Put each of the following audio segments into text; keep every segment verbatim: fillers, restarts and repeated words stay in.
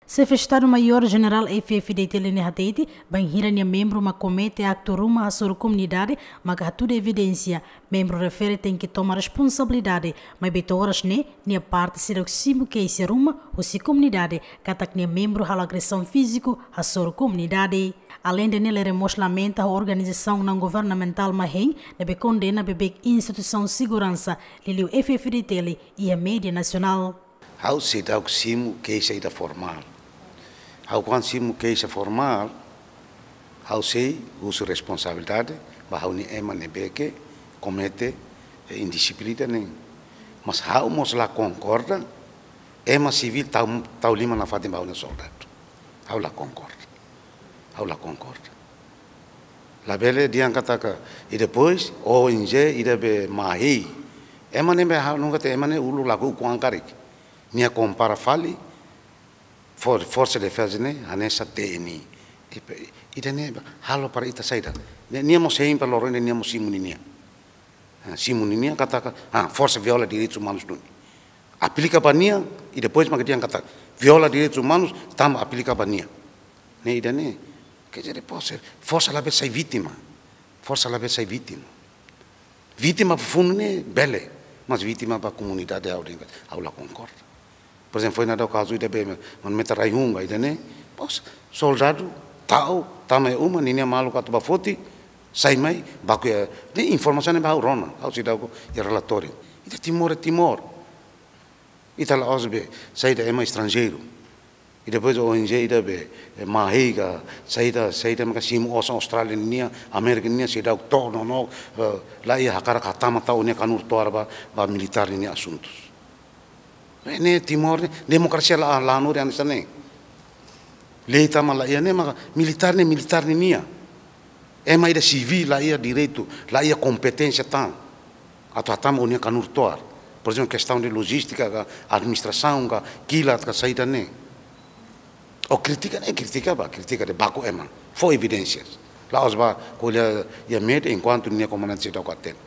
Xefe Estadu-Maiór Jenerál F-FDTL ne'e hatete, bainhira nia membru mak komete aktu ruma hasoru komunidade, maka hatudu evidénsia, membru refere tenke toma responsabilidade, maibé to'o oras ne'e, nia parte seidauk simu keixa ruma husi komunidade, katak nia membru halo agresaun fíziku hasoru komunidade. Aleinde ne'e, Lere mós lamenta ho organizasaun naun-governamentál mak hein, ne'ebé kondena beibeik instituisaun seguransa, liuliu F-FDTL, iha média nasionál. Ha'u seidauk simu keixa ida formál. Ha'u kuandu simu keixa formál, ha'u sei husu responsabilidade ba ha'u-nia ema ne'ebé ke komete, eh, indisiplina ne'e. Mas ha'u mós la konkorda, ema sivíl tau, tau liman nafatin ba ha'u-nia soldadu. Ha'u la konkorda. Ha'u la konkorda. Labele dehan katak, i depois, O N G ida be mahei. Ema ne'ebé ha'u nunka te ema ne'e uluk lakohi ukun an karik. Nia kompara fali, for-, Forsa Defeza ne'e, hanesan T N I. I pe-, ida-ne'e, halo para ita saida. Ne'e, nia mós hein para loro ne'e, nia mós simu ninia. Ah, simu ninia katak, ah, forsa viola direitus umanus duni. Aplika ba nia, i depois mak dehan katak, viola direitus umanus, tanba aplika ba nia. Ne'e ida-ne'e, quer dizer, forsa, forsa labele sai vítima. Forsa labele sai vítima. Vítima ba funu ne'e bele, mas vítima ba komunidade ha'u dehan, ha'u la konkorda. Por ezemplu, foin daudaun kazu ida be, manu meta rai-hun ba ida-ne'e, pos, soldadu, ta'uk, tama iha uma, ninia maluk atu ba foti, sai mai, baku iha, ne'e informasaun ne'e ba ha'u rona, ha'u seidauk iha relatóriu. Ita Timor, Timor. Ita la'ós be, saida ema estranjeiru. I depois O N G ida be, eh, mahei ka, saida, saida maka simu osan Austrália ninia, Amérika ninia, seidauk to'o no, no, eh, laiha hakarak hatama tau nia kanur toar ba, ba militár ninia asuntus. Eh, ne'e Timor ne'e, demokrasia la, la hanorin hanesan ne'e. Lei tama laiha ne'e, maka militár ne'e, militár ninia. Ema ida sivíl laiha direitu, laiha kompeténsia tan atu hatama o-nia kanur toar. Por ezemplu, kestaun de lojístika ka, administrasaun ka, kilat ka, saida ne'e. O kritika ne'e, kritika ba, kritika de'it, baku ema. Fó evidénsias. La'ós ba ko'alia iha média enkuantu nia komandante seidauk hatene.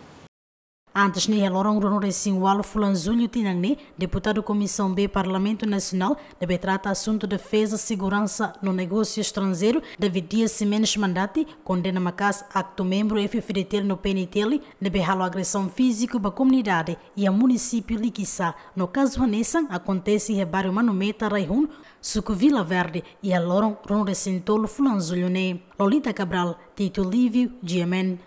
Antes ne'e, iha loron ruanulu-resin-ualu fulan Jullu tinan ne'e, deputadu Komisaun B Parlamentu Nasionál ne'ebé trata asuntu defeza, seguransa no negósiu estranjeiru, David Dias Ximenes Mandati, kondena maka'as aktu membru F-FDTL no P N T L ne'ebé halo agresaun fíziku ba komunidade iha munisípiu Likisá, no kazu hanesan akontese iha bairru Manu Meta, rai-hun, suku Vila Verde, iha loron ruanulu-resin-tolu fulan Jullu ne'e. Lolita Cabral, Tito Livio, G M N.